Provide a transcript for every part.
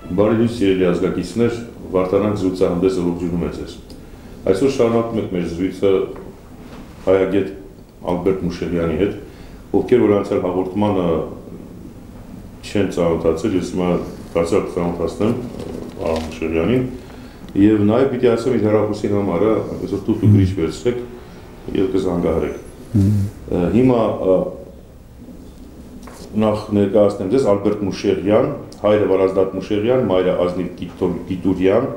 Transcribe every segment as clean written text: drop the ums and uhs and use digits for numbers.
Բարի լույս սիրելի ազգակիցներ, Վարդանանք զրույցահանդեսը ողջունում է ձեզ։ Այսօր շարունակում ենք մեր զրույցը հայագետ Ալբերտ Մուշեղյանի հետ, ովքեր որ անցյալ հաղորդմանը չեն ծանոթացել, ես հիմա կարծրակ ծանոթացնեմ Մուշեղյանին, եւ նաեւ պիտի ասեմ իր հեռախոսի նամարը, այսօր դուք գրիչ վերցրեք եւ կզանգահարեք։ Հիմա նախ ներկայացնեմ ձեզ Ալբերտ Մուշեղյան, հայրը Վարազդատ Մուշեղյան, մայրը Ազնիվ Գիտուրյան,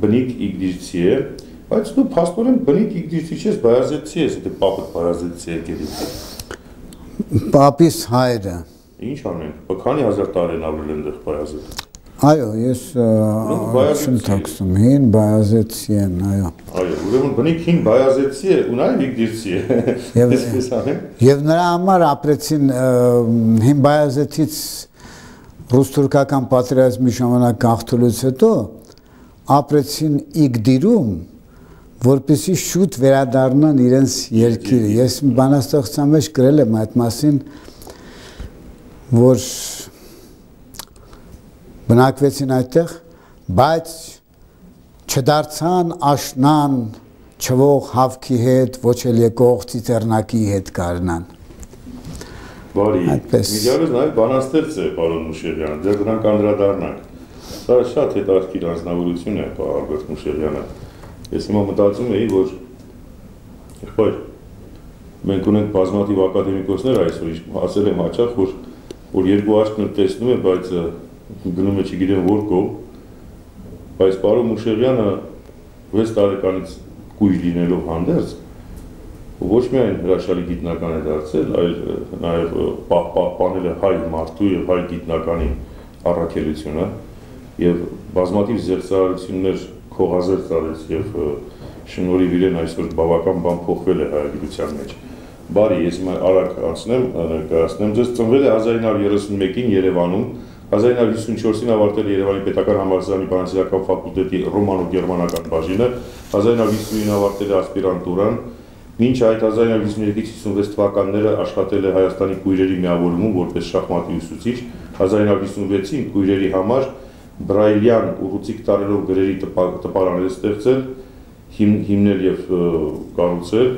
բնիկ իգդիրցի է, բայց դու փաստորեն բնիկ իգդիրցի չես, բայազետցի ես, եթե պապդ բայազետցի եկել է։ Պապիս հայրը։ Ինչ անենք, քանի հազար տարի են ապրել այնտեղ բայազետ։ Այո, ես շնթակսում հին բայազետցի են, այո։ Այո, ուրեմն բնիկ հին բայազետցի է, ու նաև իգդիրցի է։ Եվ նրա համար ապրեցին հին բայազետից ռուս-թուրքական պատերազմի ժամանակ գաղթելուց հետո ապրեցին Իգդիրում, որպեսզի շուտ վերադառնան իրենց երկիրը։ Ես բանաստեղծության մեջ գրել եմ այդ մասին, որ բնակվեցին այդտեղ, բայց չդարձան աշնան չվող հավքի հետ, ոչ էլ եկող ծիծեռնակի հետ կառնան։ Բարի, միջարыз նաև բանաստեղծ է, պարոն Մուշեղյան, դեռ դրանք անդրադառնանք։ Դա շատ հետաքրքիր անձնավորություն է, Ալբերտ Մուշեղյանը։ Ես հիմա մտածում էի, որ եղբայր, մենք ունենք բազմաթիվ ակադեմիկոսներ այսօր, ասել եմ հաճախ, որ երկու աչքն տեսնում է, բայց գնում է չգիտեմ որ կողմ, բայց պարոն Մուշեղյանը 6 տարեկանից կույր լինելով հանդերձ, ոչ միայն հրաշալի գիտնական է դարձել, այլ նաև պահպանել է հայ մարդու եւ հայ գիտնականի առաքելությունը եւ բազմաթիվ զեղծարարություններ քողազերծ արեց եւ շնորհիվ իրեն այսօր բավական բան փոխվել է հայագիտության մեջ։ Բարի, ես հիմա արագ անցնեմ, ներկայացնեմ ձեզ, ծնվել է 1931-ին Երևանում, 1954-ին ավարտել է Երևանի Պետական համալսարանի բանասիրական ֆակուլտետի ռոմանո-գերմանական բաժինը, 1959-ին ավարտել է ասպիրանտուրան, մինչ այդ 1953-56 թվականները աշխատել է Հայաստանի կույրերի միավորումում որպես շախմատի ուսուցիչ, 1956-ին կույրերի համար բրայլյան ուռուցիկ տարերով գրերի տպարաններ ստեղծել, հիմնել եւ կառուցել,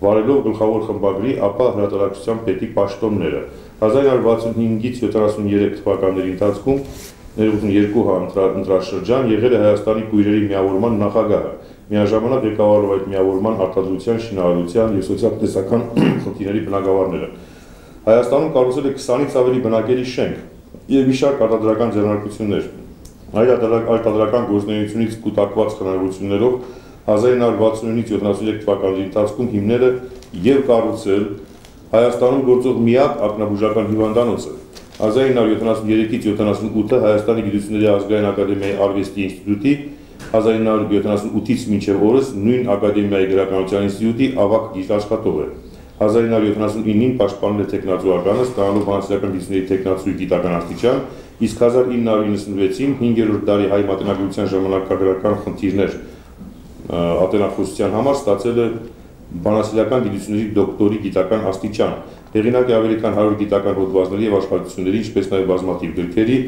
վարելով գլխավոր խմբագրի, ապա հրատարակչության պետի պաշտոնները։ 1965-ից 73 թվականների ընթացքում ներողություն 2 ընտրաշրջան եղել է Հայաստանի կույրերի միավորման նախագահը, միաժամանակ ղեկավարելով այդ միավորման արտադրության, շինարարության եւ սոցիալ-տնտեսական խնդիրների բնագավառները։ Հայաստանում կառուցել է 20-ից ավելի բնակելի շենք եւ մի շարք արտադրական ձեռնարկություններ։ Այդ արտադրական գործունեությունից կուտակված հնարավորություններով 1969-ից 73 թվականների ընթացքում հիմնել է եւ կառուցել Հայաստանում գործող միակ ակնաբուժական հիվանդանոցը։ 1973-ից 78-ը Հայաստանի գիտությունների ազգային ակադեմիայի արվեստի ինստիտուտի, 1978-ից մինչև օրս նույն ակադեմիայի գրականության ինստիտուտի ավագ գիտաշխատող է։ 1979-ին պաշտպանել է տեխնացուականը, ստանալով բանասիրական գիտությունների տեխնացուի գիտական աստիճան, իսկ 1996-ին 5-րդ դարի հայ մատենագրության ժամանակագրական խնդիրներ ատենախոսության համար ստացել է բանասիրական գիտությունների դոկտորի գիտական աստիճան, հեղինակ է ավելի քան 100 գիտական հոդվածների եւ աշխատությունների, ինչպես նաեւ բազմաթիվ գրքերի,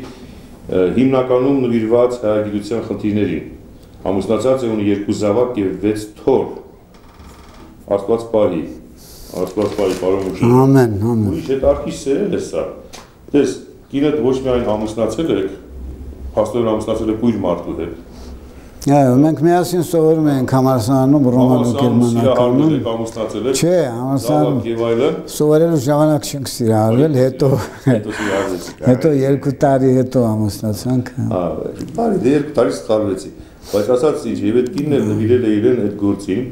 հիմնականում նվիրված հայագիտության խնդիրներին։ Ամուսնացած է, ունի 2 զավակ եւ 6 թոռ։ Աստված պահի, պարոն Մուշեղյան։ Ամեն, ամեն։ Ուրիշ հետարքի սերել է սա։ Տես, կինդ ոչ միայն ամուսնացել եք, փաստորեն ամուսնացել եք կույր մարդու հետ։ Այո, մենք միասին սովորում ենք համալսարանում ռոմանո-գերմանականում։ Չէ, համալսարանում սովորելու ժամանակ չենք սիրահարվել, հետո 2 տարի հետո ամուսնացանք։ Բարի, դե 2 տարի սխալվեցի, բայց ասած ինչ, եւ այդ կինն էլ նվիրել է իրեն այդ գործին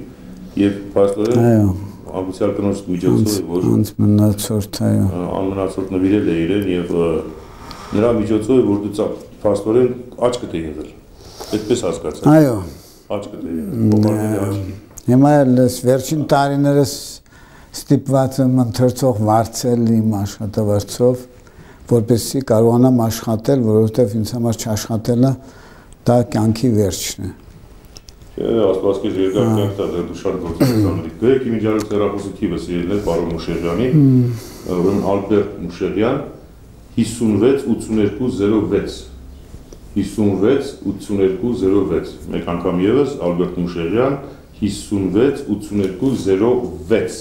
եւ փաստորեն ամուսյալ կնոջ միջոցով որ անմնացորդ, այո, անմնացորդ նվիրել է իրեն եւ նրա միջոցով որ դու փաստորեն աչքդ է եղել։ Այդպես հասկացա։ Այո։ Աչքդ է եղել։ Հիմա ես վերջին տարիներս ստիպված եմ ընթերցող վարձել իմ աշխատավարձով, որպեսզի կարողանամ աշխատել, որովհետև ինձ համար չաշխատելը դա կյանքի վերջն է։ Աստված քեզ երկար կյանք տա, դու շատ գործունեությունների։ Գրեք իմ իջարից հեռախոսի թիվը սիրել է պարոն Մուշեղյանի, ուրեմն Ալբերտ Մուշեղյան 56 82 06 568206 մեկ անգամ եւս Ալբերտ Մուշեղյան 568206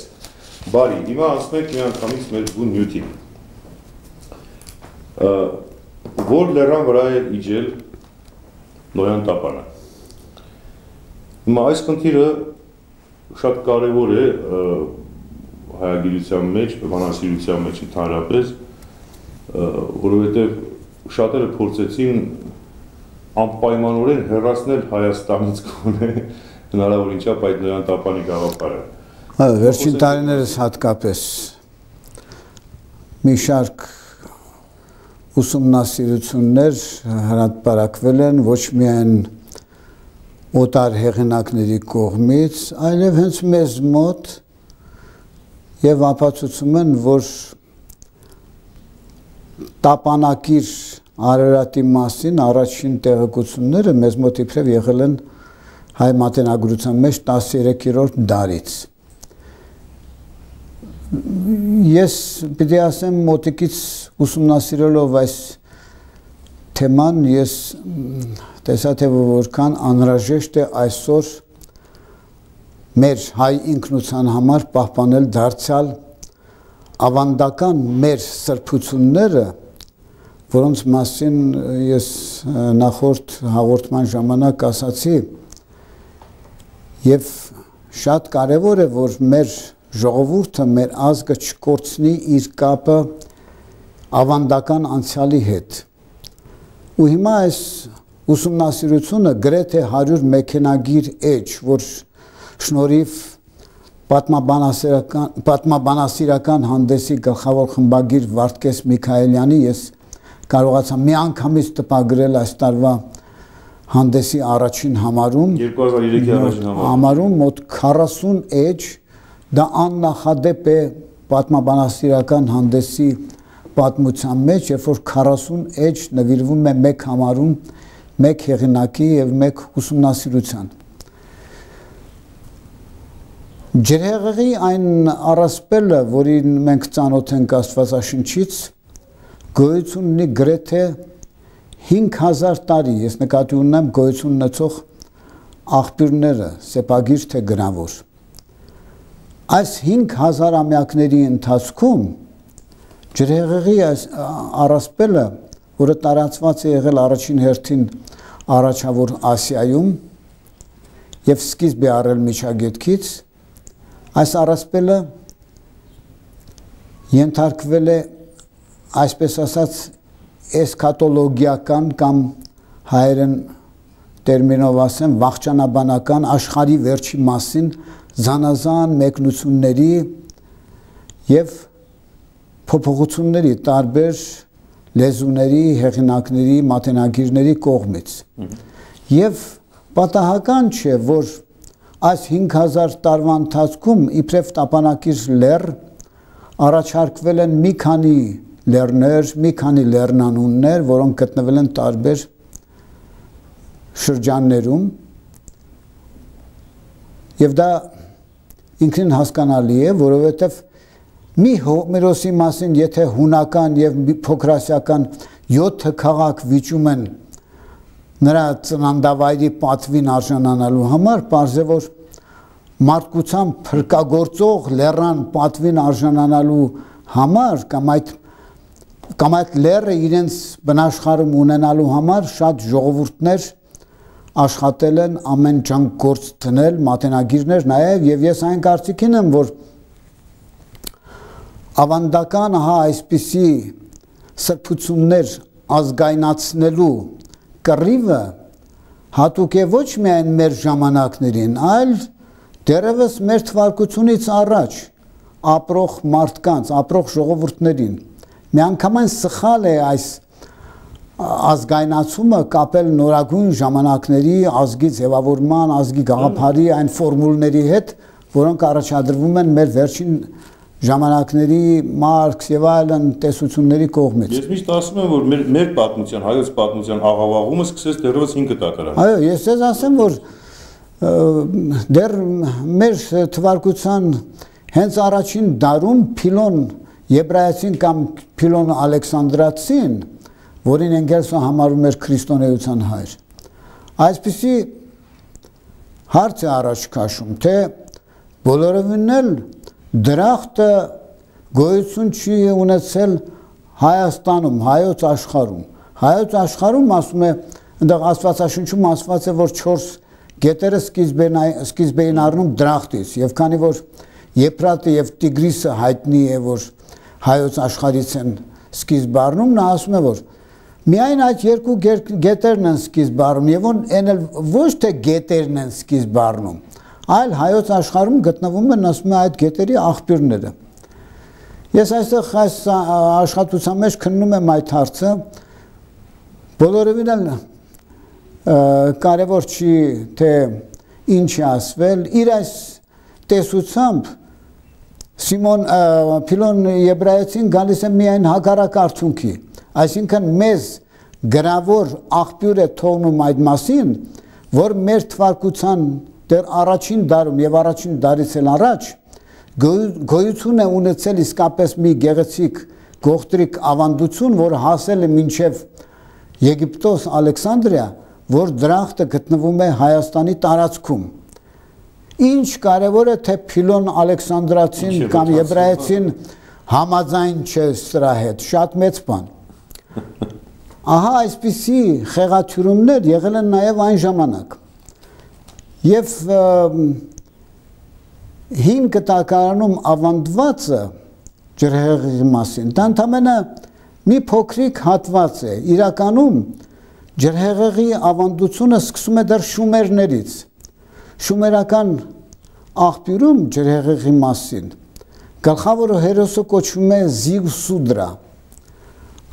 բարի հիմա ասենք մի անգամից մեր բուն նյութին որ լեռան վրա է իջել Նոյան Տապանը հիմա այս խնդիրը շատ կարևոր է հայագիտության մեջ բանասիրության մեջ ընդհանրապես որովհետեւ շատերը փորձեցին անպայմանորեն հեռացնել Հայաստանից գոնե հնարավորին չափ այդ Նոյան Տապանի գաղափարը։ Այո, վերջին տարիներս հատկապես մի շարք ուսումնասիրություններ հրապարակվել են ոչ միայն օտար հեղինակների կողմից, այլև հենց մեզ մոտ եւ ապացուցում են, որ տապանակիր Արարատի մասին առաջին տեղեկությունները մեզ մոտ իբրև եղել են հայ մատենագրության մեջ 13-րդ դարից։ Ես պիտի ասեմ մոտիկից ուսումնասիրելով այս թեման, ես տեսա թե որքան անհրաժեշտ է այսօր մեր հայ ինքնության համար պահպանել դարձյալ ավանդական մեր սրբությունները, որոնց մասին ես նախորդ հաղորդման ժամանակ ասացի, եւ շատ կարևոր է, որ մեր ժողովուրդը, մեր ազգը չկորցնի իր կապը ավանդական անցյալի հետ։ Ու հիմա այս ուսումնասիրությունը գրեթե 100 մեքենագիր էջ, որ շնորհիվ պատմաբանասիրական հանդեսի գլխավոր խմբագիր Վարդգես Միքայելյանի ես կարողացա մի անգամից տպագրել այս տարվա հանդեսի առաջին համարում 2003-ի առաջին համարում մոտ 40 էջ դա աննախադեպ է պատմաբանասիրական հանդեսի պատմության մեջ, երբ որ 40 էջ նվիրվում է մեկ համարում, մեկ հեղինակի եւ մեկ ուսումնասիրության։ Ջրհեղեղի այն առասպելը, որին մենք ծանոթ ենք Աստվածաշնչից, գոյություն ունի գրեթե 5000 տարի, ես նկատի ունեմ գոյություն ունեցող աղբյուրները, սեպագիր թե գրավոր։ Այս 5000 ամյակների ընթացքում ջրհեղեղի առասպելը, որը տարածված է եղել առաջին հերթին առաջավոր Ասիայում եւ սկիզբ է առել Միջագետքից, այս առասպելը ենթարկվել է այսպես ասած էսքատոլոգիական կամ հայերեն տերմինով ասեմ վախճանաբանական աշխարհի վերջի մասին զանազան մեկնությունների եւ փոփոխությունների տարբեր լեզուների, հեղինակների, մատենագիրների կողմից։ Եվ պատահական չէ, որ այս 5000 տարվա ընթացքում իբրև տապանակիր լեռ առաջարկվել են մի քանի լեռներ, մի քանի լեռնանուններ, որոնք գտնվել են տարբեր շրջաններում, եւ դա ինքնին հասկանալի է, որովհետեւ մի Հոմերոսի մասին, եթե հունական եւ փոքրասիական 7 քաղաք վիճում են նրա ծննդավայրի պատվին արժանանալու համար, պարզ է, որ մարդկության փրկագործող լեռան պատվին արժանանալու համար կամ այդ լեռը իրենց բնաշխարհում ունենալու համար շատ ժողովուրդներ աշխատել են ամեն ջանք գործ դնել, մատենագիրներ նաև, եւ ես այն կարծիքին եմ, որ ավանդական այսպիսի սրբություններ ազգայնացնելու կռիվը հատուկ է ոչ միայն մեր ժամանակներին, այլ դեռևս մեր թվարկությունից առաջ ապրող մարդկանց, ապրող ժողովուրդներին։ Միանգամայն սխալ է այս ազգայնացումը կապել նորագույն ժամանակների ազգի ձևավորման, ազգի գաղափարի այն ֆորմուլների հետ, որոնք առաջադրվում են մեր վերջին ժամանակների Մարքս եւ այլն տեսությունների կողմից։ Ես միշտ ասում եմ, որ մեր պատմության, հայոց պատմության աղավաղումը սկսեց դեռևս 5 տակարան։ Այո, ես ձեզ ասեմ, որ դեռ մեր թվարկության հենց առաջին դարում Փիլոն Եբրայեցին կամ Փիլոն Ալեքսանդրացին, որին Էնգելսը համարում էր քրիստոնեության հայր։ Այսպիսի հարց է առաջ քաշում, թե բոլորովին էլ դրախտը գոյություն չի ունեցել Հայաստանում, հայոց աշխարհում։ Հայոց աշխարհում ասում է, այնտեղ Աստվածաշնչում ասված է, որ 4 գետերը սկիզբ էին առնում դրախտից, եւ քանի որ Եփրատը եւ Տիգրիսը հայտնի է, որ հայոց աշխարհից են սկիզբ առնում, նա ասում է, որ միայն այդ երկու գետերն են սկիզբ առնում, եւ այն էլ ոչ թե գետերն են սկիզբ առնում, այլ հայոց աշխարհում գտնվում են, ասում է, այդ գետերի աղբյուրները։ Ես այստեղ այս աշխատության մեջ քննում եմ այդ հարցը, բոլորովին էլ կարևոր չի, թե ինչ է ասվել, իր այս տեսությամբ Փիլոն Եբրայեցին գալիս է միայն հակառակ արդյունքի, այսինքն մեզ գրավոր աղբյուր է թողնում այդ մասին, որ մեր թվարկության դեռ առաջին դարում եւ առաջին դարից էլ առաջ գոյություն է ունեցել իսկապես մի գեղեցիկ գողտրիկ ավանդություն, որ հասել է մինչև Եգիպտոս, Ալեքսանդրիա, որ դրախտը գտնվում է Հայաստանի տարածքում։ Ինչ կարևոր է, թե Փիլոն Ալեքսանդրացին կամ Եբրայեցին համաձայն չէ սրա հետ, շատ մեծ բան։ Ահա այսպիսի խեղաթյուրումներ եղել են նաև այն ժամանակ։ Եվ 5 տակարանում ավանդվածը ջրհեղեղի մասին, դա ընդամենը մի փոքրիկ հատված է, իրականում ջրհեղեղի ավանդությունը սկսում է դեռ շումերներից, շումերական աղբյուրում ջրհեղեղի մասին, գլխավոր հերոսը կոչվում է Զիուսուդրա,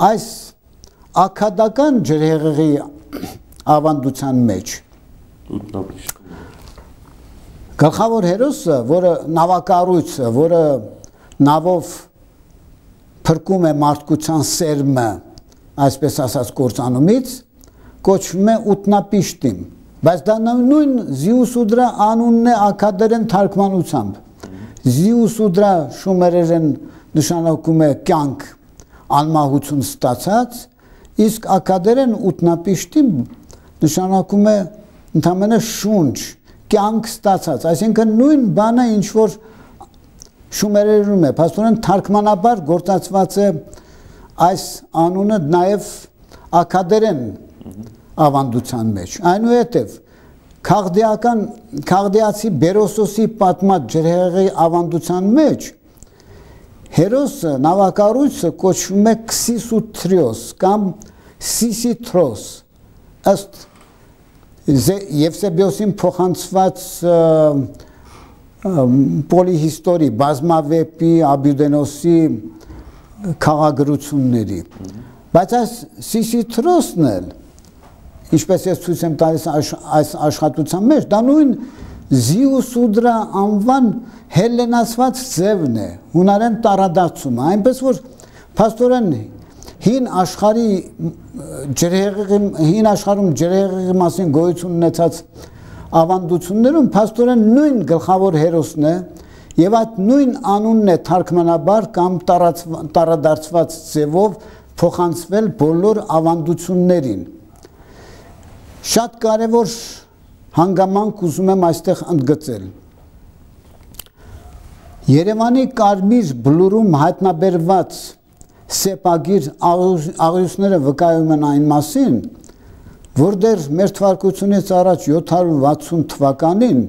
այս աքադական ջրհեղեղի ավանդության մեջ, գլխավոր հերոսը, որը նավակառույցը, որը նավով փրկում է մարդկության սերմը, այսպես ասած կործանումից, կոչվում է Ուտնապիշտիմ, բայց դա նույն Զիուսուդրա անունն է աքադերեն թարգմանությամբ։ Զիուսուդրա շումերերեն նշանակում է կյանք, անմահություն ստացած, իսկ աքադերեն Ուտնապիշտիմ նշանակում է ընդամենը շունչ, կյանք ստացած, այսինքն նույն բանը ինչ որ շումերերում է, փաստորեն թարգմանաբար գործածված է այս անունը նաև աքադերեն ավանդության մեջ։ Այնուհետև քաղդիացի Բերոսոսի պատմած ջրհեղեղի ավանդության մեջ հերոսը, նավակառույցը կոչվում է Քսիսութրիոս կամ Սիսիթրոս, ըստ Եվսեբիոսին փոխանցված պոլիհիստորի, բազմավեպի, Աբյուդենոսի քաղաքագրությունների։ Բայց այս Սիսիթրոսն էլ, ինչպես ես ցույց եմ տալիս այս աշխատության մեջ, դա նույն Զիուսուդրա անվան հելլենացված ձևն է, հունարեն տարադարձումը, այնպես որ փաստորեն հին աշխարհում ջրհեղեղի մասին գոյություն ունեցած ավանդություններում փաստորեն նույն գլխավոր հերոսն է եւ այդ նույն անունն է թարգմանաբար կամ տարադարձված ձևով փոխանցվել բոլոր ավանդություններին։ Շատ կարևոր հանգամանք ուզում եմ այստեղ ընդգծել։ Երևանի Կարմիր բլուրում հայտնաբերված սեպագիր աղյուսները վկայում են այն մասին, որ դեռ մեր թվարկությունից առաջ 760 թվականին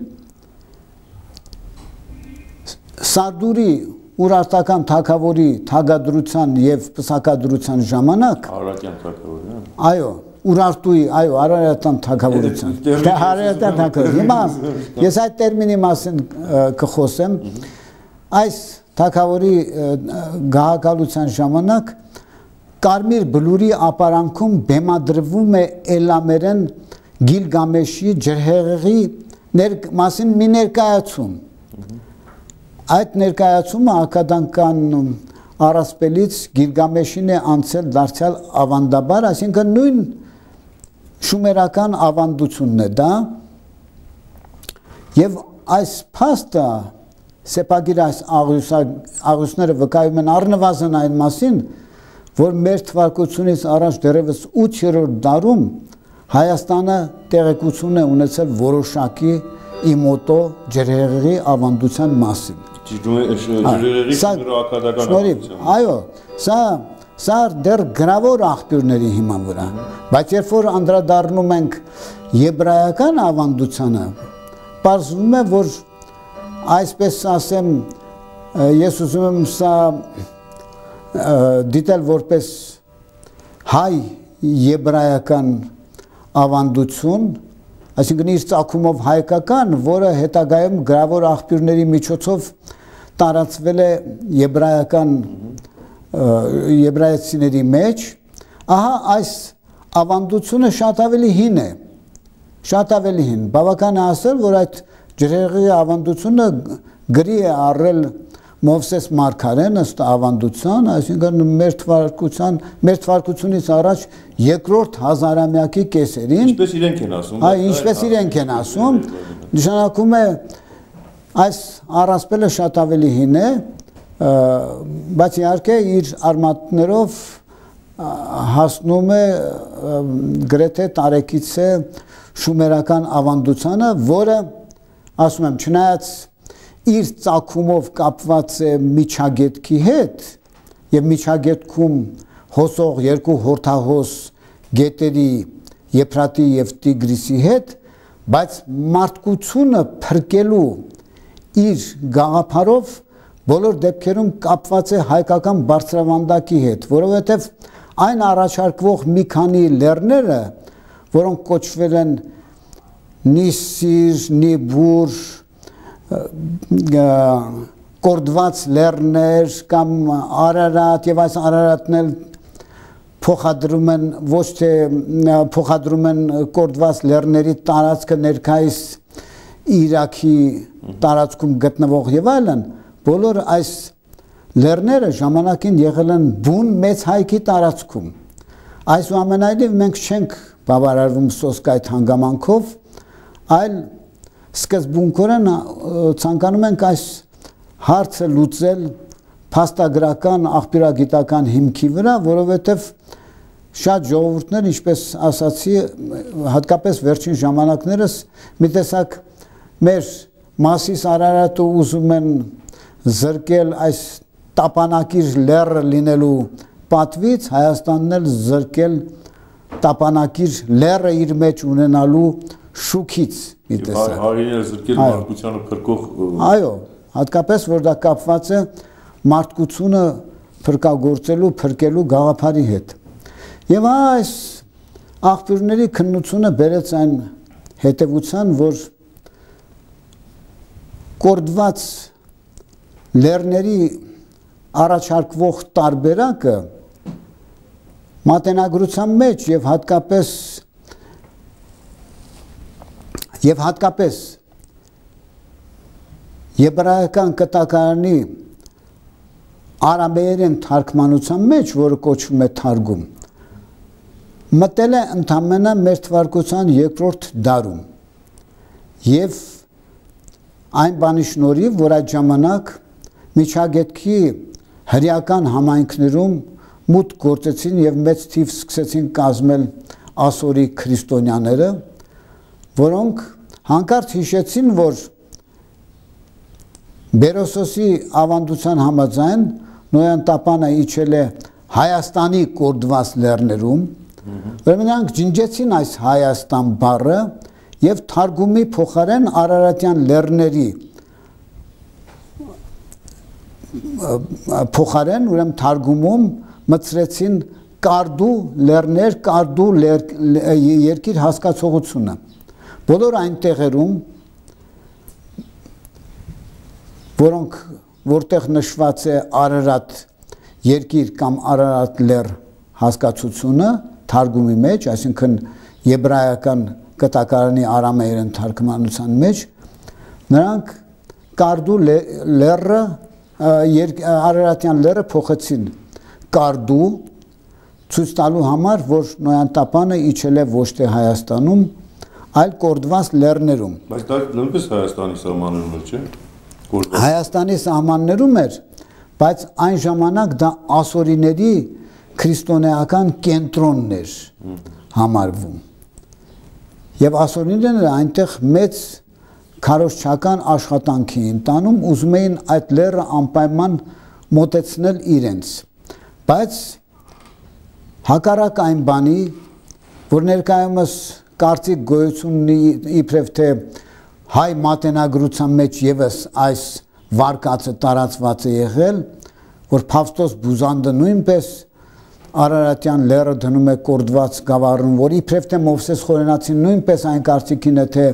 Սարդուրի Ուրարտական թագավորի թագադրության եւ պսակադրության ժամանակ Արարատյան թագավորի, այո, Ուրարտուի, այո, Արարատյան թագավորության։ Դա Արարատյան թագավոր։ Հիմա ես այդ տերմինի մասին կխոսեմ։ Այս թագավորի գահակալության ժամանակ Կարմիր բլուրի ապարանքում բեմադրվում է էլամերեն Գիլգամեշի ջրհեղեղի մասին մի ներկայացում։ Այդ ներկայացումը ակադանական առասպելից Գիլգամեշին է անցել դարձյալ ավանդաբար, այսինքն նույն շումերական ավանդությունն է դա, եւ այս փաստը սեպագիր այս աղյուսները վկայում են առնվազն այն մասին, որ մեր թվարկությունից առաջ դեռևս 8-րդ դարում Հայաստանը տեղեկություն է ունեցել որոշակի իմոտո ջրհեղեղի ավանդության մասին։ Ջրհեղեղի շնորհակալական ավանդության։ Այո, սա դեռ գրավոր աղբյուրների հիման վրա, բայց երբ որ անդրադառնում ենք եբրայական ավանդությանը, պարզվում է, որ այսպես ասեմ, ես ուզում եմ սա դիտել որպես հայ եբրայական ավանդություն, այսինքն իր ծագումով հայկական, որը հետագայում գրավոր աղբյուրների միջոցով տարածվել է եբրայեցիների մեջ, ահա այս ավանդությունը շատ ավելի հին է, բավական է ասել, որ այդ ջրհեղեղի ավանդությունը գրի է առել Մովսես Մարգարեն ըստ ավանդության, այսինքն մեր թվարկությունից առաջ երկրորդ հազարամյակի կեսերին, ինչպես իրենք են ասում, ինչպես իրենք են ասում, նշանակում է այս առասպելը շատ ավելի հին է, բայց իհարկե իր արմատներով հասնում է գրեթե տարեկից է շումերական ավանդությանը, որը, ասում եմ, չնայած իր ծագումով կապված է միջագետքի հետ և միջագետքում հոսող երկու հորդահոս գետերի Եփրատի և Տիգրիսի հետ, բայց մարդկությունը փրկելու իր գաղափարով բոլոր դեպքերում կապված է հայկական բարձրավանդակի հետ, որովհետև այն առաջարկվող մի քանի լեռները, որոնք կոչվել են Նիսիր, Նիբուր, կորդված լեռներ կամ Արարատ և այս Արարատն էլ փոխադրում են ոչ թե փոխադրում են կորդված լեռների տարածքը ներկայիս Իրաքի տարածքում գտնվող եւ այլն, բոլոր այս լեռները ժամանակին եղել են բուն մեծ հայքի տարածքում։ Այսուամենայնիվ մենք չենք բավարարվում սոսկ այդ հանգամանքով, այլ սկզբունքորեն ցանկանում ենք այս հարցը լուծել փաստագրական աղբյուրագիտական հիմքի վրա, որովհետև շատ ժողովուրդներ, ինչպես ասացի, հատկապես վերջին ժամանակներս մի տեսակ մեր Մասիս Արարատը ուզում են զրկել այս տապանակիր լեռը լինելու պատվից, Հայաստանն էլ զրկել տապանակիր լեռը իր մեջ ունենալու շուքից մի տեսակ։ Հայերեն զրկել մարդկությանը փրկող։ Այո, հատկապես որ դա կապված է մարդկությունը փրկագործելու, փրկելու գաղափարի հետ։ Եվ այս աղբյուրների քննությունը բերեց այն հետևության, որ կորդված լեռների առաջարկվող տարբերակը մատենագրության մեջ և հատկապես եբրայական կտակարանի արամեերեն թարգմանության մեջ, որը կոչվում է թարգում, մտել է ընդամենը մեր թվարկության երկրորդ դարում և այն բանի շնորհիվ, որ այդ ժամանակ միջագետքի հրեական համայնքներում մուտք գործեցին և մեծ թիվ սկսեցին կազմել ասորի քրիստոնյաները, որոնք հանկարծ հիշեցին, որ Բերոսոսի ավանդության համաձայն Նոյան տապանը իջել է Հայաստանի կորդված լեռներում, ուրեմն նրանք ջնջեցին այս Հայաստան բառը և թարգումի փոխարեն Արարատյան լեռների փոխարեն, ուրեմն թարգումում մտցրեցին կարդու լեռներ, կարդու երկիր հասկացողությունը։ Բոլոր այն տեղերում, որտեղ նշված է Արարատ երկիր կամ Արարատ լեռ հասկացությունը թարգումի մեջ, այսինքն եբրայական կտակարանի արամեերեն թարգմանության մեջ, նրանք կարդու լեռը, Արարատյան լեռը փոխեցին կարդու, ցույց տալու համար, որ Նոյան տապանը իջել է ոչ թե Հայաստանում, այլ կորդված լեռներում։ Բայց դա նույնպես Հայաստանի սահմաններում էր, չէ՞։ Հայաստանի սահմաններում էր, բայց այն ժամանակ դա ասորիների քրիստոնեական կենտրոնն էր համարվում։ Եվ ասորիները այնտեղ մեծ քարոզչական աշխատանք էին տանում, ուզում էին այդ լեռը անպայման մոտեցնել իրենց։ Բայց հակառակ այն բանի, որ ներկայումս կարծիք գոյություն ունի իբրև թե հայ մատենագրության մեջ եւս այս վարկածը տարածված է եղել, որ Փավստոս Բուզանդը նույնպես Արարատյան լեռը դնում է կորդված գավառում, որ իբրև թե Մովսես Խորենացին նույնպես այն կարծիքին է, թե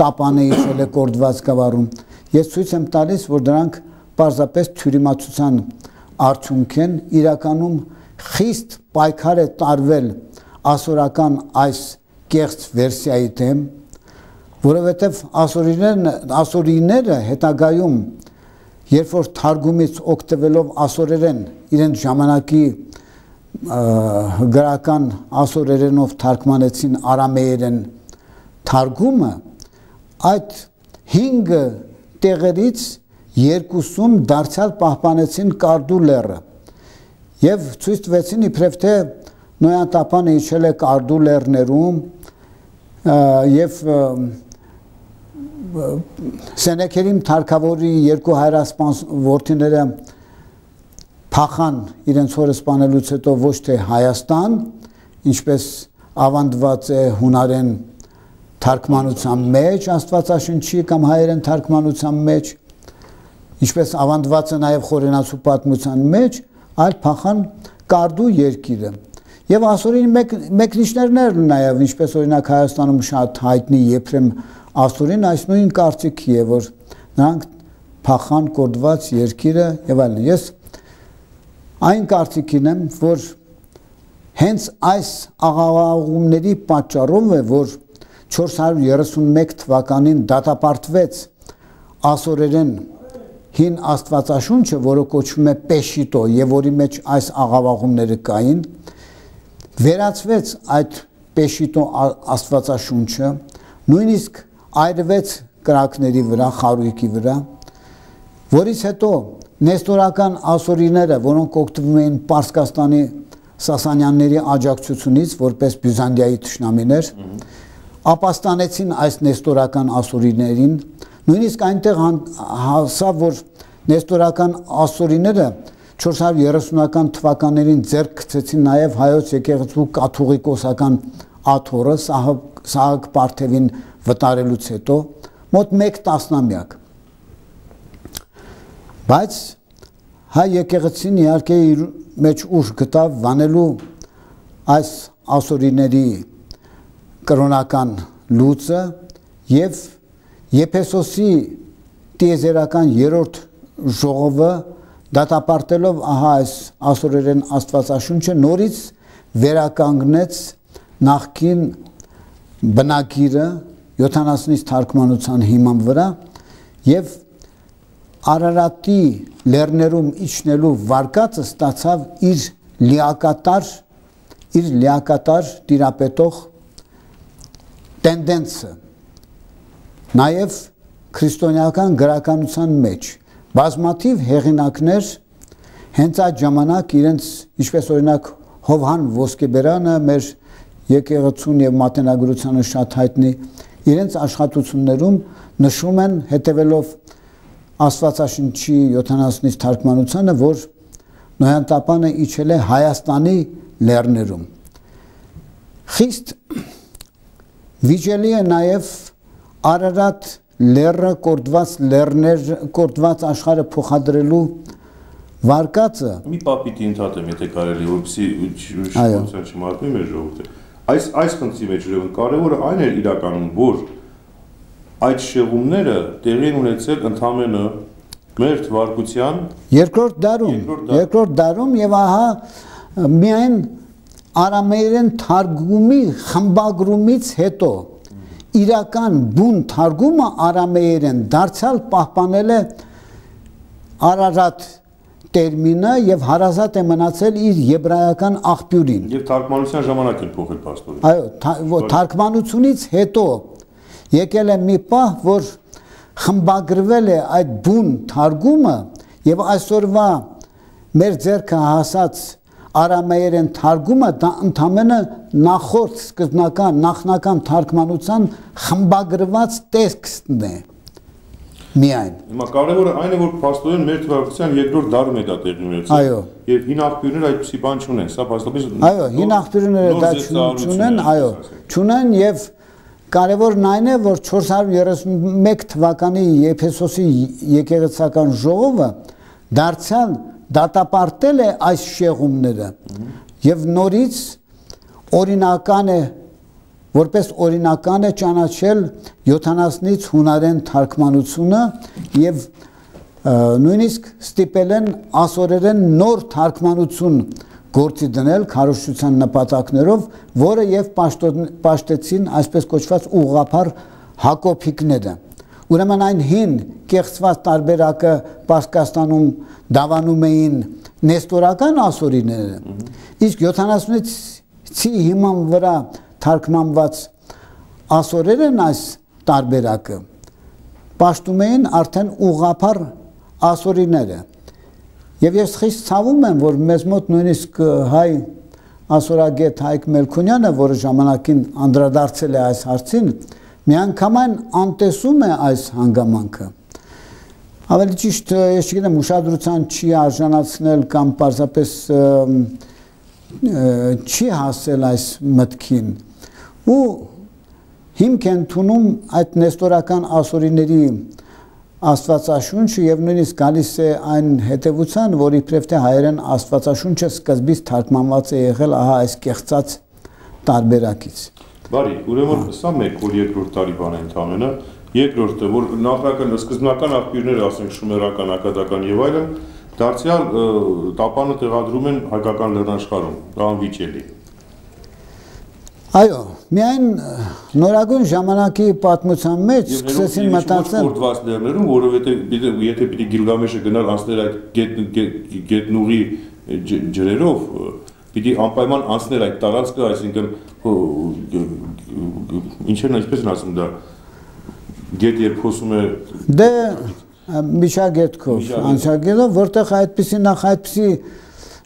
տապանը իջել է կորդված գավառում։ Ես ցույց եմ տալիս, որ դրանք պարզապես թյուրիմացության արդյունք են, իրականում խիստ պայքար է տարվել ասորական այս կեղծ վերսիայի դեմ, որովհետև ասորիները հետագայում, երբ որ թարգումից օգտվելով ասորերեն, իրենց ժամանակի գրական ասորերենով թարգմանեցին արամեերեն թարգումը, այդ 5 տեղերից 2-ում դարձյալ պահպանեցին Կարդու լեռը եւ ցույց տվեցին իբրև թե Նոյան տապանը իջել է Կարդու լեռներում եւ Սենեքերիմ թարգավորի 2 հայրասպան որդիները փախան իրենց հորը սպանելուց հետո ոչ թե Հայաստան, ինչպես ավանդված է հունարեն թարգմանության մեջ, Աստվածաշնչի կամ հայերեն թարգմանության մեջ, ինչպես ավանդված է նաև Խորենացու պատմության մեջ, այլ փախան Կարդու երկիրը։ Եվ ասորին մեկնիչներն նաև, ինչպես օրինակ Հայաստանում շատ հայտնի Եփրեմ ասորին, այս նույն կարծիքի է, որ նրանք փախան կորդված երկիրը եւ այլն։ Ես այն կարծիքին եմ, որ հենց այս աղավաղումների պատճառով է, որ 431 թվականին դատապարտվեց ասորերեն հին աստվածաշունչը, որը կոչվում է Պեշիտո եւ որի մեջ այս աղավաղումները կային, վերացվեց այդ Պեշիտո աստվածաշունչը, նույնիսկ այրվեց կրակների վրա, խարույկի վրա, որից հետո նեստորական ասորիները, որոնք օգտվում էին Պարսկաստանի Սասանյանների աջակցությունից, որպես Բյուզանդիայի թշնամիներ, ապաստանեցին այս նեստորական ասորիներին, նույնիսկ այնտեղ հասավ, որ նեստորական ասորիները 430-ական թվականներին ձեռք գցեցին նաև հայոց եկեղեցու կաթողիկոսական աթոռը Սահակ Պարթևին վտարելուց հետո մոտ 1 տասնամյակ։ Բայց հայ եկեղեցին իհարկե իր մեջ ուժ գտավ վանելու այս ասորիների կրոնական լուծը եւ Եփեսոսի տիեզերական 3-րդ ժողովը դատապարտելով ահա այս ասորերեն աստվածաշունչը նորից վերականգնեց նախկին բնագիրը 70-ից թարգմանության հիման վրա եւ Արարատի լեռներում իջնելու վարկածը ստացավ իր լիակատար տիրապետող տենդենսը նաև քրիստոնեական գրականության մեջ բազմաթիվ հեղինակներ հենց այդ ժամանակ իրենց ինչպես օրինակ Հովհան Ոսկեբերանը մեր եկեղեցուն եւ մատենագրությանը շատ հայտնի իրենց աշխատություններում նշում են հետևելով Աստվածաշնչի 70-ից թարգմանությանը, որ Նոյան տապանը իջել է Հայաստանի լեռներում։ Խիստ վիճելի է նաև Արարատ լեռը կորդված աշխարհը փոխադրելու վարկածը։ Մի պապիտի ընդհատեմ, եթե կարելի, որպեսզի ուշադրություն չմատնի մեր ժողովուրդը։ Այս խնդրի մեջ կարևորը այն էր իրականում, որ այդ շեղումները տեղի ունեցել ընդամենը մեր թվարկության երկրորդ դարում եւ ահա միայն արամեերեն թարգումի խմբագրումից հետո իրական բուն թարգումը արամեերեն դարձյալ պահպանել է Արարատ տերմինը եւ հարազատ է մնացել իր եբրայական աղբյուրին։ Եվ թարգմանության ժամանակ են փոխել պաստորը։ Այո, թարգմանությունից հետո եկել է մի պահ, որ խմբագրվել է այդ բուն թարգումը եւ այսօրվա մեր ձեռքը հասած արամեերեն թարգումը դա ընդամենը նախորդ նախնական թարգմանության խմբագրված տեքստն է միայն։ Հիմա կարևորը այն է, որ փաստորեն մեր թվարկության երկրորդ դարում է դա տեղի ունեցել։ Այո։ Եվ հին աղբյուրները այդպիսի բան չունեն, սա փաստորեն։ Այո, հին աղբյուրները դա չունեն, այո, չունեն եւ կարևորն այն է, որ 431 թվականի Եփեսոսի եկեղեցական ժողովը դարձյալ դատապարտել է այս շեղումները եւ նորից օրինական է որպես օրինական է ճանաչել 70-ից հունարեն թարգմանությունը եւ նույնիսկ ստիպել են ասորերեն նոր թարգմանություն գործի դնել քարոզչության նպատակներով, որը եւ պաշտեցին այսպես կոչված ուղղափառ հակոբիկները։ Ուրեմն այն հին կեղծված տարբերակը Պարսկաստանում դավանում էին նեստորական ասորիները, իսկ 70-ի հիման վրա թարգմանված ասորերն այս տարբերակը պաշտում էին արդեն ուղղափառ ասորիները։ Եվ ես խիստ ցավում եմ, որ մեզ մոտ նույնիսկ հայ ասորագետ Հայկ Մելքոնյանը, որը ժամանակին անդրադարձել է այս հարցին, միանգամայն անտեսում է այս հանգամանքը։ Ավելի ճիշտ, ես չգիտեմ, ուշադրության չի արժանացնել կամ պարզապես չի հասել այս մտքին ու հիմք են ընդունում այդ նեստորական ասորիների աստվածաշունչը եւ նույնիսկ գալիս է այն հետեւության, որ իբրև թե հայերեն աստվածաշունչը սկզբից թարգմանված է եղել ահա այս կեղծած տարբերակից։ Բարի, ուրեմն սա մեկ որ երկրորդ տարի բան է ընդամենը, երկրորդը որ նախնական սկզբնական աղբյուրները, ասենք շումերական, ակադական եւ այլն, դարձյալ տապանը տեղադրում են հայկական լեռնաշխարհում, դա անվիճելի։ Այո, միայն նորագույն ժամանակի պատմության մեջ սկսեցին մտածել կորդված լեռներում, որովհետեւ եթե պիտի Գիլգամեշը գնար անցներ այդ գետնուղի ջրերով, պիտի անպայման անցներ այդ տարածքը, այսինքն ինչերն այսպես են ասում դա գետ երբ խոսում է դե միջագետքով անցագետով, որտեղ այդպիսի նախ այդպիսի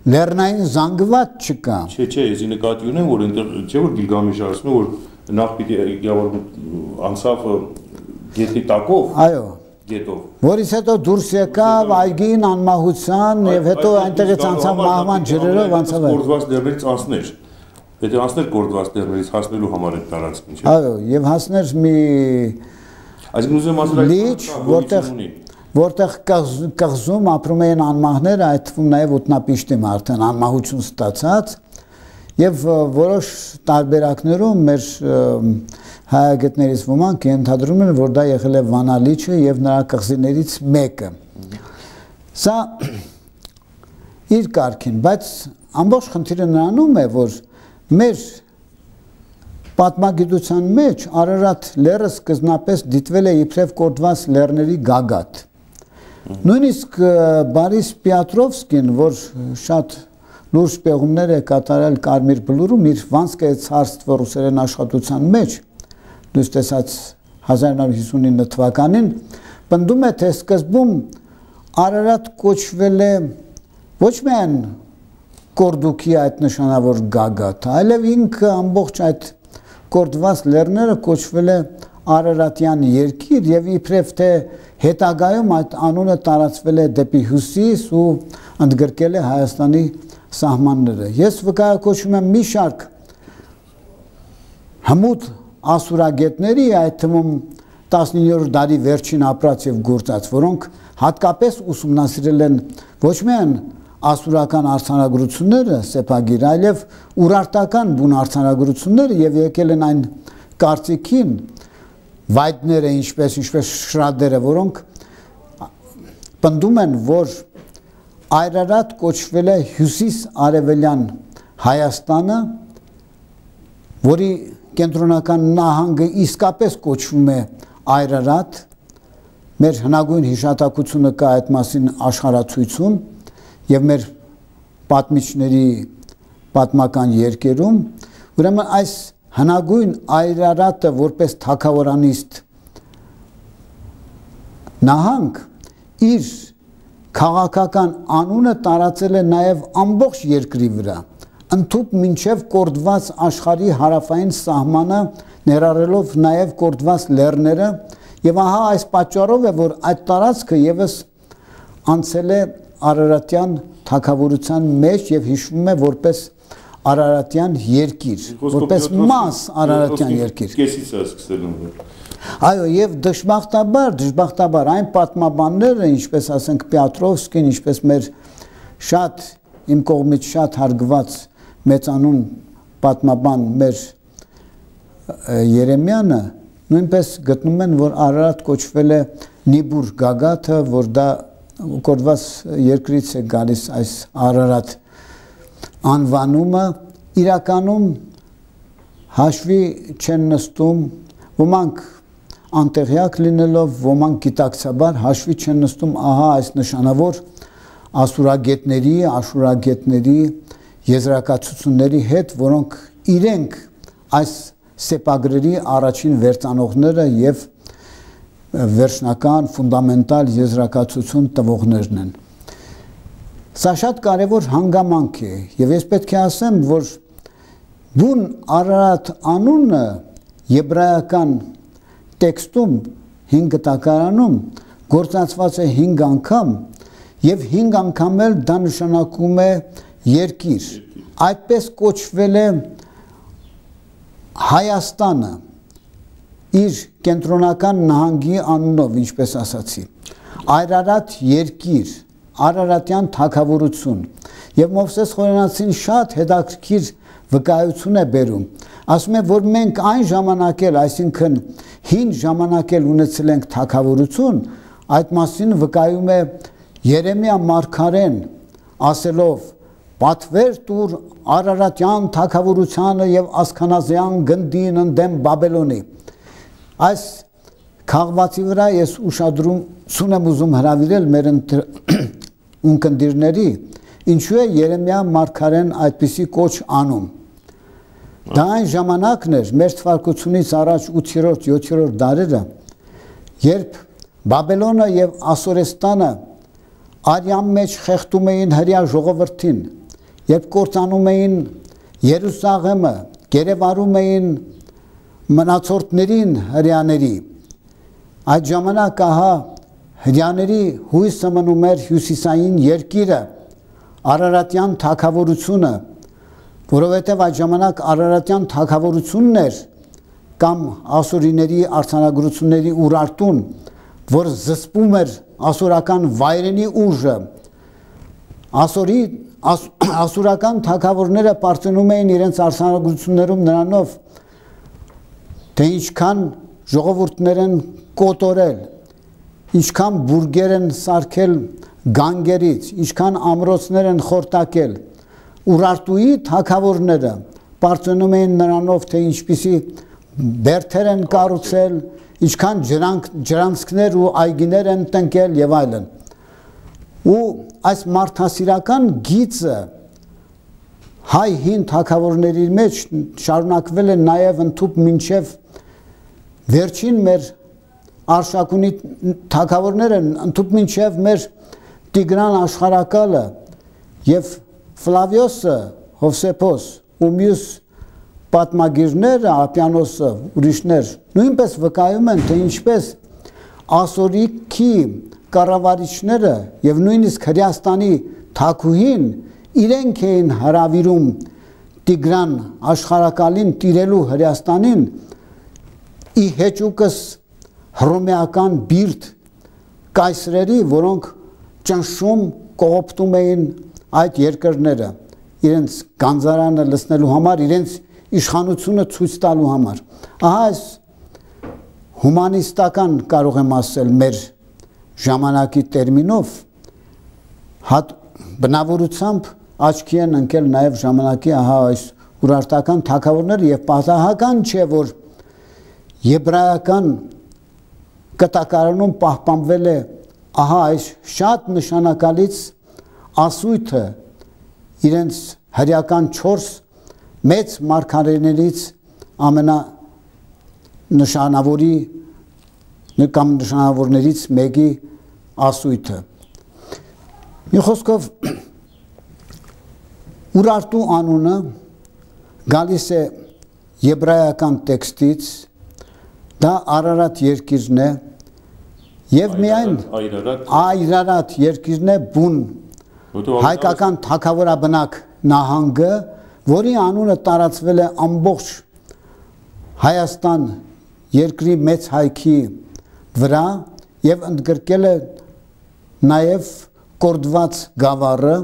լեռնային զանգված չկա։ Չէ, ես նկատի ունեմ, որ այնտեղ չէ որ Գիլգամեշը ասում է, որ նախ պիտի անցավ գետնի տակով, այո, գետով, որից հետո դուրս եկավ այգին անմահության եւ հետո այնտեղից անցավ մահվան ջրերով անցավ կորդված լեռներից անցներ։ Եթե անցներ կորդված լեռներից հասնելու համար այդ տարածքին, չէ։ Այո, եւ հասներ մի այսինքն ուզում ասել այդ որտեղ կղզում ապրում էին անմահները, այդ թվում նաև ոտնապիշտիմ արդեն անմահություն ստացած եւ որոշ տարբերակներում մեր հայագետներից ոմանք ենթադրում են, որ դա եղել է Վանալիչը եւ նրա կղզիներից մեկը։ Սա իր կարգին, բայց ամբողջ խնդիրը նրանում է, որ մեր պատմագիտության մեջ Արարատ լեռը սկզբնապես դիտվել է իբրև կորդված լեռների գագաթ։ Նույնիսկ Բարիս Պիատրովսկին, որ շատ լուրջ պեղումներ է կատարել Կարմիր բլուրում, իր Վանսկե ցարստվը ռուսերեն աշխատության մեջ, դուք տեսած 1959 թվականին, պնդում է, թե սկզբում Արարատ կոչվել է ոչ միայն կորդուքի այդ նշանավոր գագաթը, այլև ինքը ամբողջ այդ կորդված լեռները կոչվել է Արարատյան երկիր եւ իբրև թե հետագայում այդ անունը տարածվել է դեպի հյուսիս ու ընդգրկել է Հայաստանի սահմանները։ Ես վկայակոչում եմ մի շարք հմուտ ասուրագետների, այդ թվում 19-րդ դարի վերջին ապրած եւ գործած, որոնք հատկապես ուսումնասիրել են ոչ միայն ասուրական արձանագրությունները, սեպագիր, այլև ուրարտական բուն արձանագրությունները եւ եկել են այն կարծիքին վայդները, ինչպես Շրադերը, որոնք պնդում են, որ Այրարատ կոչվել է հյուսիս արևելյան Հայաստանը, որի կենտրոնական նահանգը իսկապես կոչվում է Այրարատ, մեր հնագույն հիշատակությունը կա այդ մասին աշխարհացույցում եւ մեր պատմիչների պատմական երկերում, ուրեմն այս հնագույն Այրարատը որպես թագավորանիստ նահանգ իր քաղաքական անունը տարածել է նաև ամբողջ երկրի վրա, ընդհուպ մինչև կորդված աշխարհի հարավային սահմանը, ներառելով նաև կորդված լեռները, եւ ահա այս պատճառով է, որ այդ տարածքը եւս անցել է Արարատյան թագավորության մեջ եւ հիշվում է որպես Արարատյան երկիր, որպես մաս Արարատյան երկիր։ Կեսից է սկսել։ Այո, եւ դժբախտաբար այն պատմաբանները, ինչպես ասենք Պետրովսկին, ինչպես մեր շատ իմ կողմից շատ հարգված մեծանուն պատմաբան մեր Երեմյանը, նույնպես գտնում են, որ Արարատ կոչվել է Նիբուր Գագաթը, որ դա կորված երկրից է գալիս այս Արարատ անվանումը, իրականում հաշվի չեն նստում, ոմանք անտեղյակ լինելով, ոմանք գիտակցաբար հաշվի չեն նստում ահա այս նշանավոր աշուրագետների եզրակացությունների հետ, որոնք իրենք այս սեպագրերի առաջին վերծանողները եւ վերջնական ֆունդամենտալ եզրակացություն տվողներն են։ Սա շատ կարևոր հանգամանք է եւ ես պետք է ասեմ, որ բուն Արարատ անունը եբրայական տեքստում 5 տակարանում գործածված է 5 անգամ եւ 5 անգամ էլ դա նշանակում է երկիր։ Այդպես կոչվել է Հայաստանը իր կենտրոնական նահանգի անունով, ինչպես ասացի, Արարատ երկիր, Արարատյան թագավորություն, եւ Մովսես Խորենացին շատ հետաքրքիր վկայություն է բերում, ասում է, որ մենք այն ժամանակ էլ, այսինքն հին ժամանակ էլ ունեցել ենք թագավորություն, այդ մասին վկայում է Երեմիա մարգարեն, ասելով պատվեր տուր Արարատյան թագավորությանը եւ Ասքանազյան գնդին ընդդեմ Բաբելոնի։ Այս քաղվածի վրա ես ուշադրություն եմ ուզում հրավիրել մեր ունկնդիրների, ինչու է Երեմիա մարգարեն այդպիսի կոչ անում։ Դա այն ժամանակն էր մեր թվարկությունից առաջ 8-րդ, 7-րդ դարերը, երբ Բաբելոնը եւ Ասորեստանը արյան մեջ խեղդում էին հրյա ժողովրդին, երբ կործանում էին Երուսաղեմը, գերեվարում էին մնացորդներին հրյաների, այդ ժամանակ ահա հրյաների հույսը մնում էր հյուսիսային երկիրը, Արարատյան թագավորությունը, որովհետև այդ ժամանակ Արարատյան թագավորությունն էր կամ ասորիների արձանագրությունների Ուրարտուն, որ զսպում էր ասորական վայրենի ուժը, ասորական թագավորները պարծենում էին իրենց արձանագրություններում նրանով, թե ինչքան ժողովուրդներ են կոտորել, ինչքան բուրգեր են սարքել գանգերից, ինչքան ամրոցներ են խորտակել, Ուրարտուի թագավորները պարծենում էին նրանով, թե ինչպիսի բերդեր են կառուցել, ինչքան ջրանցքներ ու այգիներ են տնկել եւ այլն։ Ու այս մարդասիրական գիծը հայ հին թագավորների մեջ շարունակվել է նաեւ ընդհուպ մինչեւ վերջին մեր արշակունի թագավորները, ընդհուպ մինչեւ մեր Տիգրան աշխարհակալը եւ Ֆլավիոսը, Հովսեփոս ու մյուս պատմագիրները, Ապիանոսը, ուրիշներ, նույնպես վկայում են, թե ինչպես ասորիքի կառավարիչները եւ նույնիսկ Հրեաստանի թագուհին իրենք էին հրավիրում Տիգրան աշխարհակալին տիրելու Հրեաստանին ի հեճուկս հռոմեական բիրտ կայսրերի, որոնք ճնշում կողոպտում էին այդ երկրները իրենց գանձարանը լցնելու համար, իրենց իշխանությունը ցույց տալու համար։ Ահա այս հումանիստական կարող եմ ասել մեր ժամանակի տերմինով բնավորությամբ աչքի են ընկել նաև ժամանակի ահա այս ուրարտական թագավորները եւ պատահական չէ, որ եբրայական կտակարանում պահպանվել է ահա այս շատ նշանակալից ասույթը իրենց հրեական 4 մեծ մարգարեներից նշանավորներից մեկի ասույթը։ Մի խոսքով Ուրարտու անունը գալիս է եբրայական տեքստից, դա Արարատ երկիրն է եւ միայն Այրարատ երկիրն է բուն հայկական թագավորաբնակ նահանգը, որի անունը տարածվել է ամբողջ Հայաստան երկրի մեծ հայքի վրա եւ ընդգրկել է նաեւ կորդված գավառը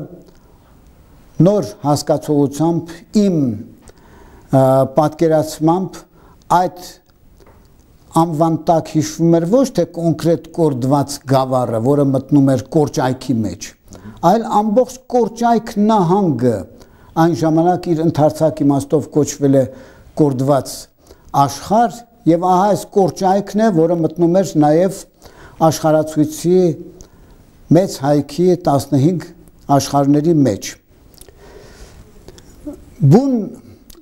նոր հասկացողությամբ իմ պատկերացմամբ այդ անվան տակ հիշվում էր ոչ թե կոնկրետ կորդված գավառը, որը մտնում էր Կորճայքի մեջ, այլ ամբողջ Կորճայք նահանգը այն ժամանակ իր ընդարձակ իմաստով կոչվել է կորդված աշխարհ եւ ահա այս Կորճայքն է, որը մտնում էր նաեւ աշխարհացույցի մեծ հայքի 15 աշխարհների մեջ։ Բուն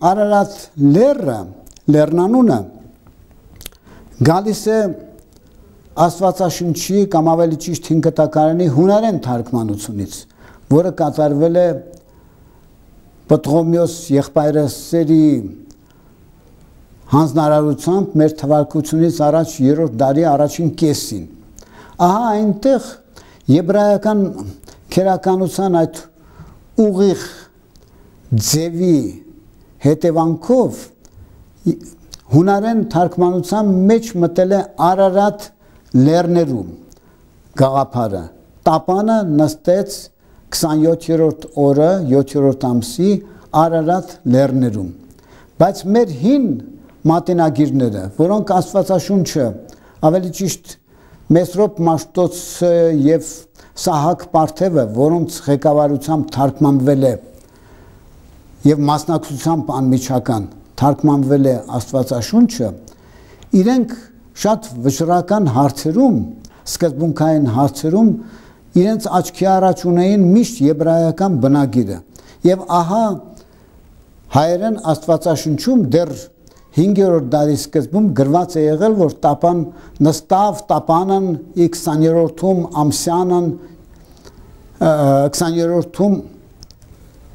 Արարատ լեռնանունը գալիս է Աստվածաշնչի կամ ավելի ճիշտ 5 կտակարանի հունարեն թարգմանությունից, որը կատարվել է Պտղոմեոս եղբայրասերի հանձնարարությամբ մեր թվարկությունից առաջ 3-րդ դարի առաջին կեսին։ Ահա այնտեղ եբրայական քերականության այդ ուղիղ ձևի հետևանքով հունարեն թարգմանության մեջ մտել է Արարատ լեռներում գաղափարը։ Տապանը նստեց 27-րդ օրը 7-րդ ամսի Արարատ լեռներում։ Բայց մեր հին մատենագիրները, որոնք Աստվածաշունչը, ավելի ճիշտ Մեսրոպ Մաշտոցը եւ Սահակ Պարթևը, որոնց ղեկավարությամբ թարգմանվել է եւ մասնակցությամբ անմիջական թարգմանվել է Աստվածաշունչը, իրենք շատ վճռական հարցերում, սկզբունքային հարցերում իրենց աչքի առաջ ունեին միշտ եբրայական բնագիրը։ Եվ ահա հայերեն Աստվածաշունչում դեռ 5-րդ դարի սկզբում գրված է եղել, որ տապան նստավ տապանն 20-րդում ամսյանն 20-րդում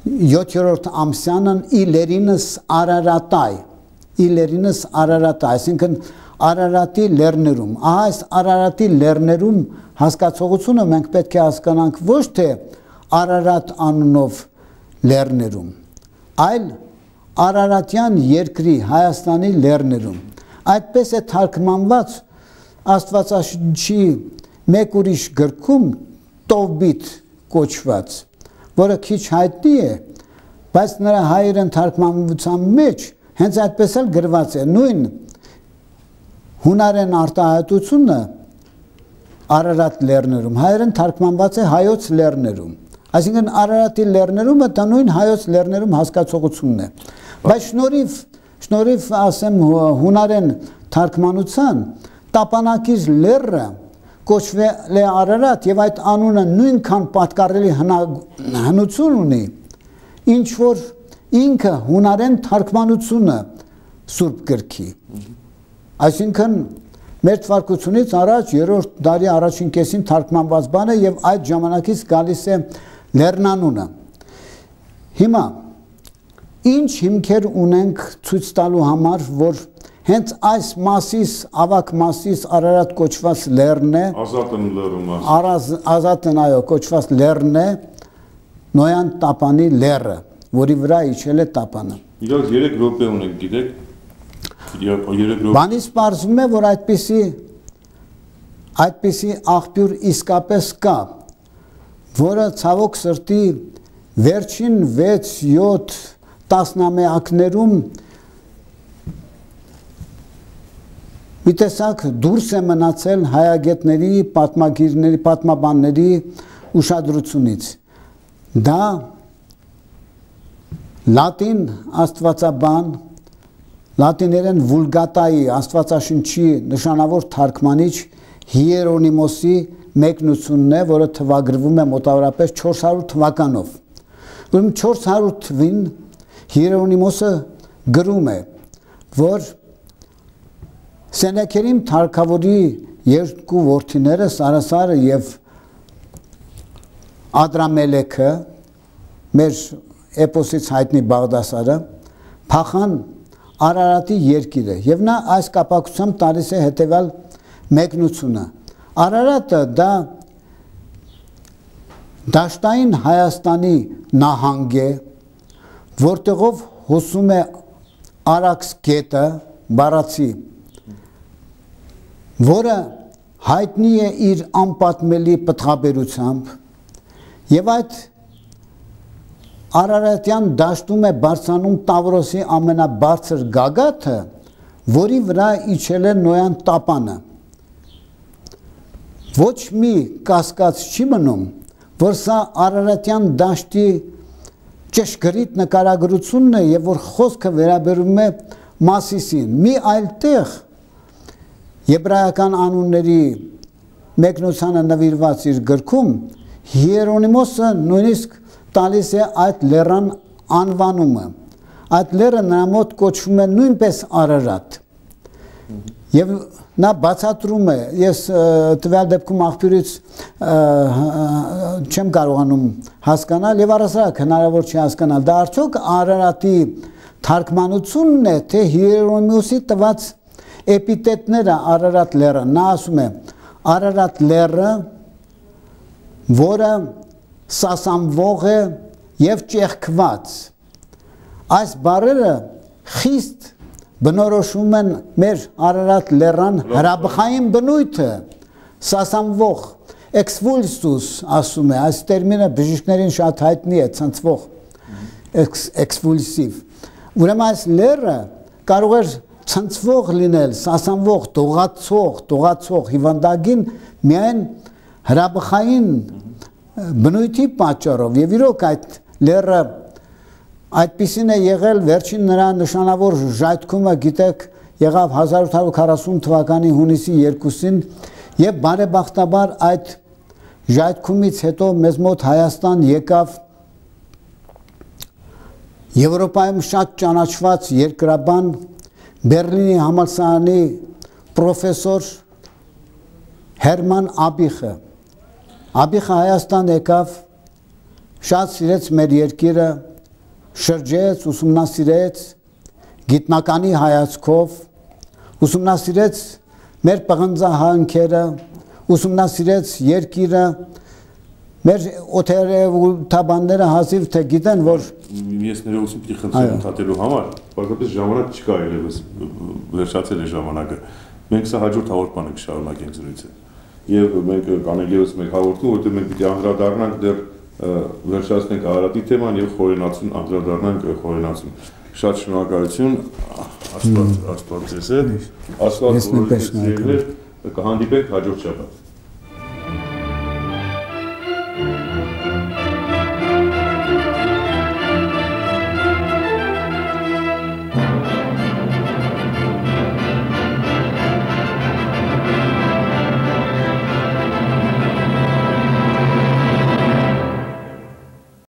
7-րդ ամսյանն իլերինս Արարատայ, այսինքն Արարատի լեռներում։ Ահա այս Արարատի լեռներում հասկացողությունը մենք պետք է հասկանանք ոչ թե Արարատ անունով լեռներում, այլ Արարատյան երկրի Հայաստանի լեռներում։ Այդպես է թարգմանված Աստվածաշնչի մեկ ուրիշ գրքում Տովբիթ կոչված, որը քիչ հայտնի է, բայց նրա հայերեն թարգմանության մեջ հենց այդպես էլ գրված է նույն հունարեն արտահայտությունը Արարատ լեռներում, հայերեն թարգմանված է հայոց լեռներում, այսինքն Արարատի լեռներումը դա նույն հայոց լեռներում հասկացողությունն է, բայց շնորհիվ ասեմ հունարեն թարգմանության տապանակիր լեռը կոչվել է Արարատ եւ այդ անունը նույնքան պատկառելի հնություն ունի, ինչ որ ինքը հունարեն թարգմանությունը Սուրբ գրքի։ Այսինքն մեր թվարկությունից առաջ 3-րդ դարի առաջին կեսին թարգմանված բան է եւ այդ ժամանակից գալիս է լեռնանունը։ Հիմա ինչ հիմքեր ունենք ցույց տալու համար, որ հենց այս մասից, ավակ մասից Արարատ կոչված լեռն է, Ազատն այո կոչված լեռն է, Նոյան տապանի լեռը, որի վրա իջել է տապանը։ Իրոք 3 րոպե ունենք, գիտեք։ Բանից պարզվում է, որ այդպիսի աղբյուր իսկապես կա, որը ցավոք սրտի վերջին 6-7 տասնամյակներում մի տեսակ դուրս է մնացել հայագետների, պատմագիրների, պատմաբանների ուշադրությունից։ Դա լատին աստվածաբան, լատիներեն վուլգատայի աստվածաշնչի նշանավոր թարգմանիչ Հիերոնիմոսի մեկնությունն է, որը թվագրվում է մոտավորապես 400 թվականով։ Ուրեմն 400 թվին Հիերոնիմոսը գրում է, որ Սենեքերիմ թագավորի երկու որդիները Սարասարը եւ Ադրամելեքը, մեր էպոսից հայտնի Բաղդասարը, փախան Արարատի երկիրը եւ նա այս կապակցությամբ տալիս է հետեւյալ մեկնությունը։ Արարատը դա դաշտային Հայաստանի նահանգ է, որտեղով հոսում է Արաքս գետը, Բարացի, որը հայտնի է իր անպատմելի պտղաբերությամբ եւ այդ Արարատյան դաշտում է բարձրանում Տավրոսի ամենաբարձր գագաթը, որի վրա իջել է Նոյան տապանը։ Ոչ մի կասկած չի մնում, որ սա Արարատյան դաշտի ճշգրիտ նկարագրությունն է եւ որ խոսքը վերաբերում է Մասիսին։ Մի այլ տեղ եբրայական անունների մեկնությանը նվիրված իր գրքում Հիերոնիմոսը նույնիսկ տալիս է այդ լեռան անվանումը։ Այդ լեռը նրա մոտ կոչվում է նույնպես Արարատ։ Եվ նա բացատրում է, ես տվյալ դեպքում աղբյուրից չեմ կարողանում հասկանալ եւ առասարակ հնարավոր չի հասկանալ։ Դա արդյոք Արարատի թարգմանությունն է, թե Հիերոնիմոսի տված էպիտետները Արարատ լեռը։ Նա ասում է Արարատ լեռը, որը սասանվող է եւ ճեղքված։ Այս բառերը խիստ բնորոշում են մեր Արարատ լեռան հրաբխային բնույթը, սասանվող, էքսվուլսուս ասում է, այս տերմինը բժիշկներին շատ հայտնի է, ցնցվող, էքսվուլսիվ։ Ուրեմն այս լեռը կարող է ցնցվող լինել, սասանվող, տողացող, հիվանդագին միայն հրաբխային բնույթի պատճառով եւ իրոք այդ լեռը այդպիսին է եղել վերջին նրա նշանավոր ժայթքումը գիտեք եղավ 1840 թվականի հունիսի 2-ին եւ բարեբախտաբար այդ ժայթքումից հետո մեզ մոտ Հայաստան եկավ Եվրոպայում շատ ճանաչված երկրաբան Բերլինի համալսարանի պրոֆեսոր Հերման Աբիխը Աբիխը Հայաստան եկավ, շատ սիրեց մեր երկիրը, շրջեց, ուսումնասիրեց, գիտնականի հայացքով, ուսումնասիրեց մեր պղնձահանքերը, ուսումնասիրեց երկիրը, մեր օթերևութաբանները հազիվ թե գիտեն, որ ես ներողություն պիտի խնդրեմ ընդհատելու համար, պարզապես ժամանակ չկա երևս, վերջացել է ժամանակը, մենք սա հաջորդ հաղորդմանը կշարունակենք զրույցը։ Եվ մենք կանելիոս մենք հաղորդում, որտեղ մենք պիտի անդրադառնանք դեռ վերջացնենք Արարատի թեման եւ խորենացուն անդրադառնանք խորենացուն։ Շատ շնորհակալություն, Աստված ձեզ հետ, Աստված բոլորիս հետ, կհանդիպենք հաջորդ շաբաթ։